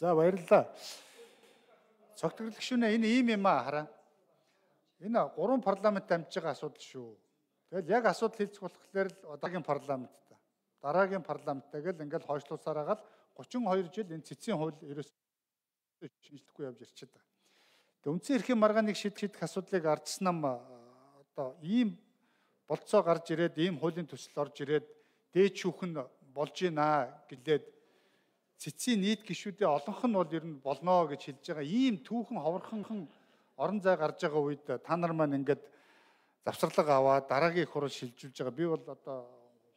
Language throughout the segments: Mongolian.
За баярлалаа. Цогтөрлөх шүнэ энэ ийм юм хараа. Энэ 3 парламент дамжиж байгаа асуудал шүү. Тэгэл яг асуудал хэлцэх болохоор л одоогийн парламенттай. Дараагийн парламенттай гэл ингээл хойшлуулсаар агаад 32 жил энэ цэцгийн хууль ерөөсөө шинжлэхгүй явж ирчихэд байгаа. Тэгээ үндсэн эрхийн маргааныг шийдэх асуудлыг ардсан нам одоо ийм болцоо гарч ирээд ийм хуулийн төсөл орж ирээд дээд шүүхэн болж гинэ гэлээд цэцгийн нийт гишүүдээ олонх нь бол ер нь болно гэж хэлж байгаа. Ийм түүхэн ховорхон орон зай гарч байгаа үед та нар маань ингээд завсарлага аваад дараагийн их хурал шилжүүлж байгаа. Би бол одоо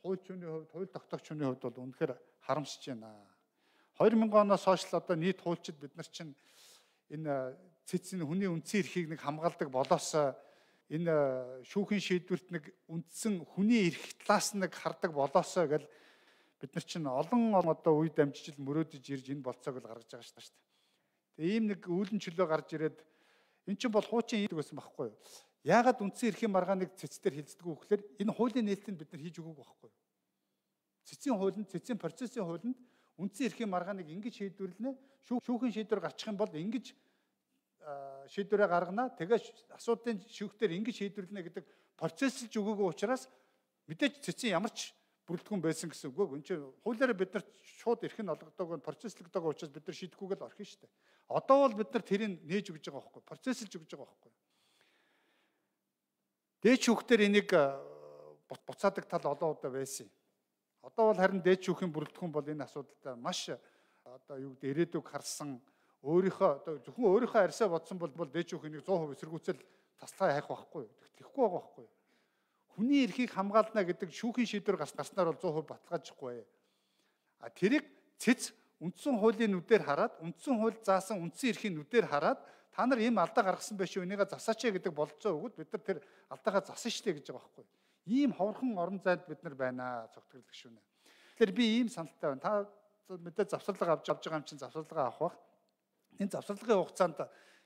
хуульчны хувьд, хууль тогтоогчны хувьд бол үнэхээр харамсаж байна. 2000 оноос хойш л одоо нийт хуульчид бид нар чинь энэ цэцэн хүний үндсэн эрхийг нэг хамгаалдаг болоос энэ шүүхийн шийдвэрт нэг үндсэн хүний эрх талаас нэг хардаг болоосоо гэл бид нар чинь олон одоо үе дамжиж мөрөөдөж ирж энэ болцоог л гаргаж байгаа шүү дээ. Тэгээ ийм нэг үүлэн чөлөө гарч ирээд эн чинь бол хуучин хийдэг байсан байхгүй юу? Яагаад үндсэн эрхийн маргааныг цэцээр хилцдэг вэ гэхээр энэ хуулийн нээлтийг бид нар хийж өгөөг байхгүй юу? Цэцгийн хуулинд, цэцгийн процессын хуулинд үндсэн эрхийн маргааныг ингэж шийдвэрлэнэ. Шүүхийн шийдвэр гарчих юм бол ингэж шийдвэрээ гаргана. Тэгээ асуудлын шүүхтэр ингэж шийдвэрлэнэ гэдэг процессэлж өгөөгүй учраас мэдээж цэцгийн ямар ч бүрэлдэхүүн байсан гэсэн үг. Энд чинь хуулиараа бид нар шууд эрх нь олгодог, процесслэгдэг учраас бид нар шийдэхгүйгээр орхино шүү дээ. Одоо бол бид нар тэрийг нээж өгж байгаа байхгүй, процессэлж өгж байгаа байхгүй. Дээд шүүхтэр энийг буцаадаг тал олон удаа байсан. Одоо бол харин дээд шүүхийн бүрэлдэхүүн бол энэ асуудалтай маш одоо юу гэдэг ирээдүг харсан өөрийнхөө одоо зөвхөн өөрийнхөө арьсаа бодсон бол дээд шүүхийн 100% эсэргүүцэл таслаа хайх байхгүй. Тэгэхгүй байгаа байхгүй. Хүний эрхийг хамгаална гэдэг шүүхийн шийдвэр гарснаар бол 100% баталгаажихгүй. А тэрийг цэц үндсэн хуулийн нүдээр хараад, үндсэн хууль заасан үндсэн эрхийн нүдээр хараад та нар ийм алдаа гаргасан байх шүү, энийгээ засаач гэдэг бололцоо өгөөд бид нар тэр алдаагаа засан штэ гэж байгаа байхгүй. Ийм ховорхон орон зайд бид нар байна цогтөрлөх шүүнэ. Тэгэхээр би ийм саналтай байна. Та мэдээ завсарлага авч байгаа юм чинь завсарлага авах бах. Энэ завсарлагын хугацаанд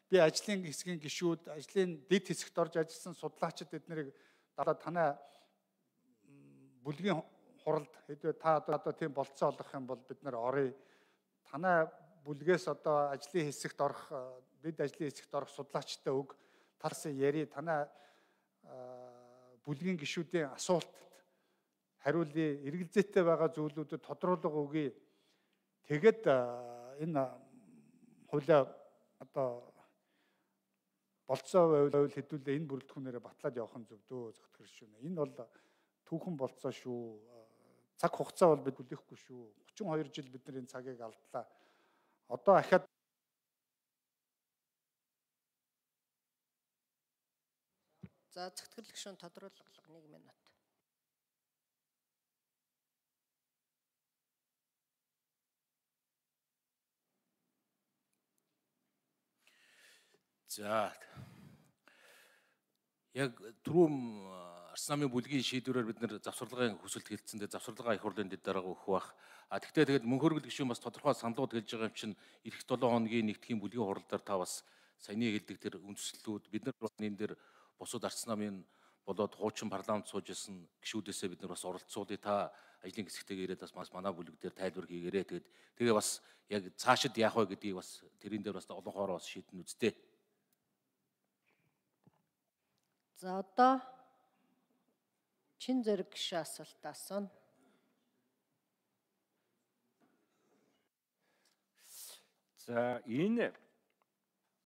би ажлын хэсгийн гишүүд, ажлын дэд хэсэгт орж ажилласан судлаачид эднэрийг танай бүлгийн хуралд хэдвээ та одоо тийм болцоо олгох юм бол бид нар оръё. Танай бүлгээс одоо ажлын хэсэгт орох, дэд ажлын хэсэгт орох судлаачтай өг тарсан яри танай бүлгийн гишүүдийн асуултад хариулъя, эргэлзээтэй байгаа зүйлүүдэд тодруулга өгье. Тэгэд энэ хуулиа одоо болцоо байвал хэдүүлээ энэ бүрэлдэхүүнээрээ батлаад явах нь зөв дөө зохицох шүүнэ. Энэ бол түүхэн болцоо шүү. Цаг хугацаа бол бид хүлээхгүй шүү. 32 жил бид нар энэ цагийг алдлаа. Одоо ахаад за зохицох шүүн тодруулга 1 минут. За яг түрүүн Арс намын бүлгийн шийдвэрээр бид нэр завсарлагын хүсэлт хэлсэн дээр завсарлагаа их хурлын дэд дараагаа өгөх бах. Тэгтээ тэгээд мөнх хөргөл гишүүн бас тодорхой саналууд хэлж байгаа юм чинь эх 7 хоногийн нэгдхийн бүлгийн хурлаар та бас саяны хэлдэг тэр үндслэлүүд бид нар бас энэ дээр бусад Арс намын болоод хуучин парламент сууж исэн гишүүдээсээ бид нар бас оролцуулъя. Та ажлын хэсэгтэйгээ ирээд бас манай бүлэг дээр тайлбар хийгээрэй. Тэгээ бас яг цаашид яах вэ гэдгийг бас тэрэн дээр бас олон хоороо бас шийдэн үздэй. За одоо чин зэрэг гишүүн асуулт асууна. За энэ